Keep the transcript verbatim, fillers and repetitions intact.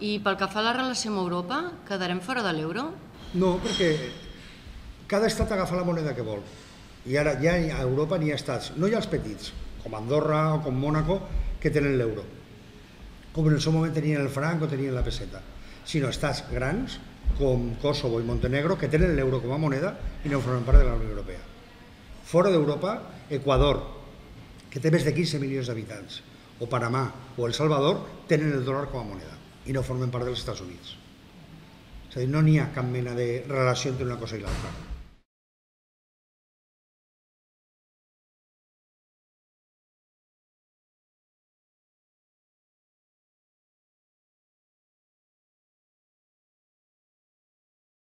I pel que fa a la relació amb Europa, quedarem fora de l'euro? No, perquè cada estat agafa la moneda que vol. I ara ja a Europa n'hi ha estats, no hi ha els petits, com Andorra o com Mònaco, que tenen l'euro. Com en el seu moment tenien el franc o tenien la peseta. Sinó estats grans, com Kosovo i Montenegro, que tenen l'euro com a moneda i no formen part de la Unió Europea. Fora d'Europa, Equador, que té més de quinze milions d'habitants, o Panamà o El Salvador, tenen el dòlar com a moneda i no formen part dels Estats Units. És a dir, no n'hi ha cap mena de relació entre una cosa i l'altra.